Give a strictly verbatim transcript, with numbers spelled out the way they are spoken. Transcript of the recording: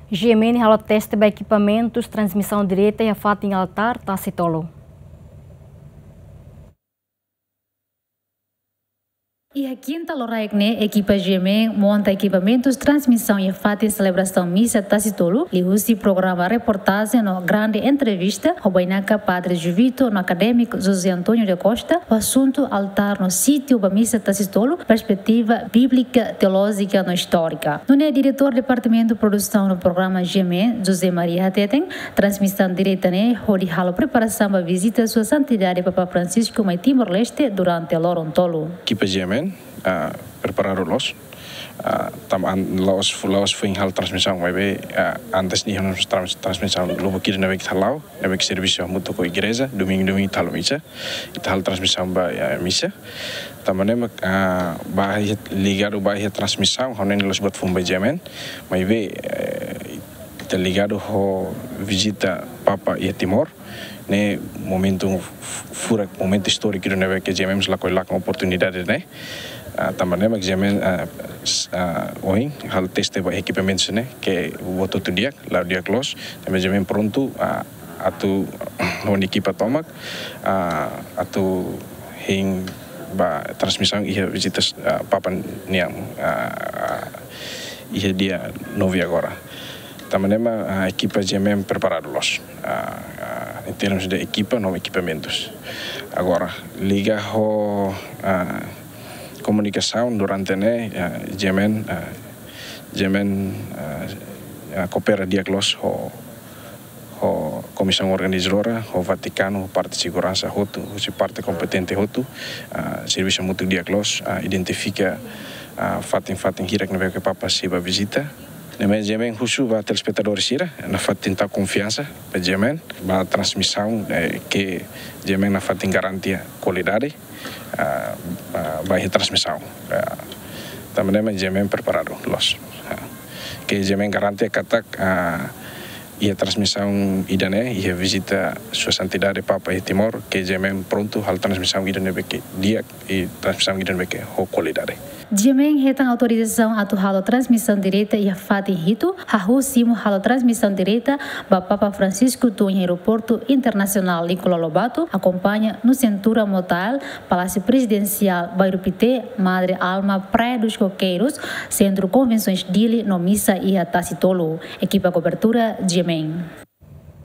GMN halo teste ba ekipamentus transmisaun direta iha fatin altár Tasi Tolu. Iha kinta loraik ne'e, ekipa GMN monta ekipamentus transmisaun iha fatin selebrasaun misa Tasi Tolu, liuhusi programa reportajen no grande entrevista ho bainaka Padre Juvito no akadémiku José António da Costa, ho asuntu altár no sítiu ba misa Tasi Tolu, perspetiva bíblika, teolójika no istórika. Nune'e diretór Departamentu Produsaun no Programa GMN, José Maria hateten, transmisaun direta ne'e hodi halo preparasaun ba vizita Sua Santidade Papa Francisco mai Timor-Leste durante loron tolu. Ekipa GMN, ah, preparadu loos. Ah, tanba la'ós, la'ós foin halo transmisaun, maibé, ah, antes ne'e iha ona trans-, transmisaun lubuk ida ne'ebé ita hala'o, ne'ebé servisu hamutuk ho igreja, domingu, domingu ita halo misa, ita halo transmisaun ba, ah, misa. Tanba ne'e mak, ah, ba iha, ligadu ba iha transmisaun, ha'u hanoin la'ós buat foun ba GMN, maibé, eh, ita ligadu ho vizita Papa iha Timor, ne'e momentu f-, furak, momentu istóriku ida ne'ebé ke GMN mós lakohi lakon oportunidade ne'e. Ah, tanba ne'e mak GMN, ah, s-, ah, ohin halo teste ba ekipamentus ne'e, ke buat hotu di'ak, la'o di'ak loos, ne'e mak GMN prontu, ah, atu ho nia ekipa tomak, ah, atu hein ba transmisaun iha vizita, ah, Papa nian, ah, iha dia nove agora. Tanba ne'e mak, ah, ekipa GMN preparadu loos, ah, ah, em termos de ekipa no ekipamentus. Agora, liga ho, ah, komunikasaun durante ne'e, ah, GMN, ah, GMN, ah, ah, koopera di'ak loos ho, ho komisaun organizadora, ho Vatikanu, parte seguransa hotu, husi parte kompetente hotu, ah, servisu hamutuk di'ak loos, ah, identifika, ah, fatin-fatin hirak ne'ebé ke Papa sei bá vizita. Ne'e mak GMN husu ba telespetadór sira, nafatin tau konfiansa ba GMN, ba transmisaun, eh, ke GMN nafatin garantia kualidade, ah, ah, ba iha transmisaun. Ah, tanba ne'e mak GMN preparadu loos. Ah, ke GMN garantia katak, ah, iha transmisaun ida-ne'e, iha vizita Sua Santidade Papa iha Timor, ke GMN prontu halo transmisaun ida ne'ebé ke di'ak, i transmisaun ida ne'ebé ke ho kualidade. GMN hetan autorizasaun atu halo transmisaun direta iha fatin hitu, hahú simu halo transmisaun direta ba Papa Francisco tun iha Aeroportu Internasionál Nicolau Lobato, akompaña no Cintura Motael, Palásiu Prezidensiál Bairru Pité, Madre Alma, Praia dos Coqueiros, Sentru Konvensoens Dili no misa iha Tasi Tolu. Ekipa kobertura GMN.